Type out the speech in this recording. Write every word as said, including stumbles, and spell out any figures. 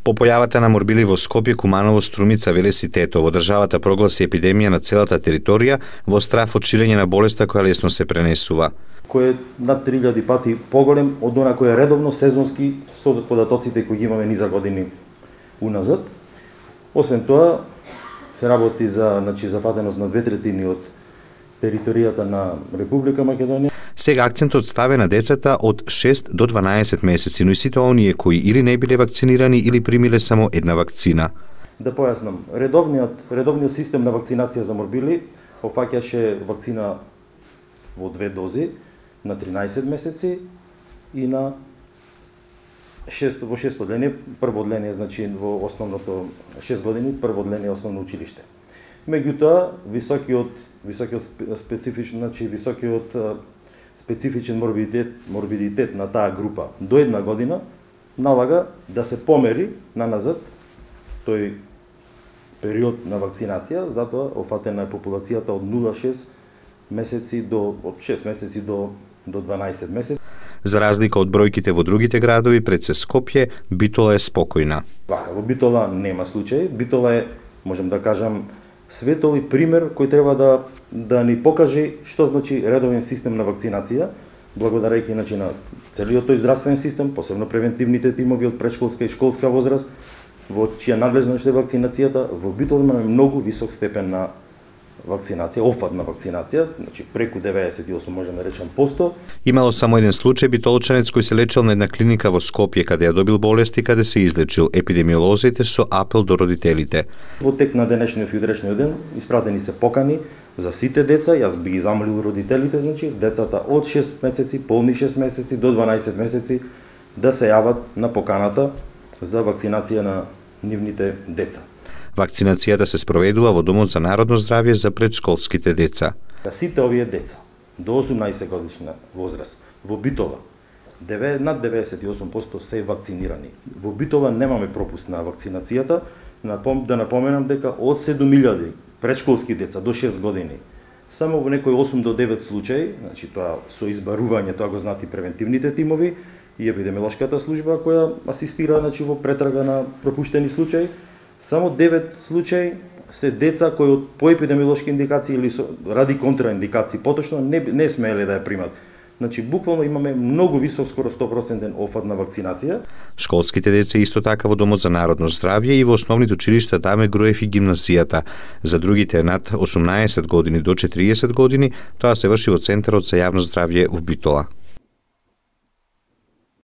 По појавата на морбили во Скопје, Куманово, Струмица, Велес и Тетово, државата прогласи епидемија на целата територија во страф од ширење на болеста која лесно се пренесува. Кој е над три илјади пати поголем од она кој е редовно сезонски со податоците кои ги имаме низа години уназад. Освен тоа, се работи за, значи, зафатеност на две третини од територијата на Република Македонија. Сега акцентот ставе на децата од шест до дванаесет месеци, но и сите оние кои или не биле вакцинирани или примиле само една вакцина. Да појаснам, редовниот редовниот систем на вакцинација за морбили опфаќаше вакцина во две дози на тринаесет месеци и на шест во шесто одделение, прво одделение, значи во основното шест години, прво одделение основно училиште. Меѓутоа, високиот високиот специфичен, значи високиот специфичен морбидитет, морбидитет на таа група до една година налага да се помери на назад тој период на вакцинација, затоа офатена е популацијата од нула целу шест месеци до од шест месеци до до дванаесет месеци. За разлика од бројките во другите градови, пред се Скопје, Битола е спокојна. Вака, во Битола нема случај. Битола е, можам да кажам, светол и пример кој треба да да ни покаже што значи редовен систем на вакцинација, благодарејќи значи на целиот тој здравствен систем, посебно превентивните тимови од претшколска и школска возраст, во чија надлежност е вакцинацијата. Во Битола имаме многу висок степен на вакцинација, офат на вакцинација, значи преку деветдесет и осум можеме да речем посто. Имало само еден случај битолчанец кој се лечел на една клиника во Скопје каде ја добил болест и каде се излечил. Епидемиолозите со апел до родителите. Во тек на денешниот и утрешниот ден испратени се покани за сите деца, јас би ги замолил родителите, значи децата од шест месеци, полни шест месеци до дванаесет месеци да се јават на поканата за вакцинација на нивните деца. Вакцинацијата се спроведува во Домот за народно здравје за предшколските деца. Сите овие деца до осумнаесет годишна возраст во Битола над деветдесет и осум посто се вакцинирани. Во Битола немаме пропуст на вакцинацијата. Да напоменам дека од седум илјади предшколски деца до шест години само во некои осум до девет случаи, значи тоа со избарување, тоа го знаат и превентивните тимови и епидемиолошката служба која асистира, значи, во претрага на пропуштени случаи. Само девет случаи се деца кои од поепидемиолошки индикации или со, ради контраиндикации поточно не, не смееле да ја примат. Значи, буквално имаме многу висок, скоро сто проценти офат на вакцинација. Школските деца исто така во Домот за народно здравје и во основните училишта Даме Груев и гимназијата. За другите над осумнаесет години до четириесет години тоа се врши во Центарот за јавно здравје во Битола.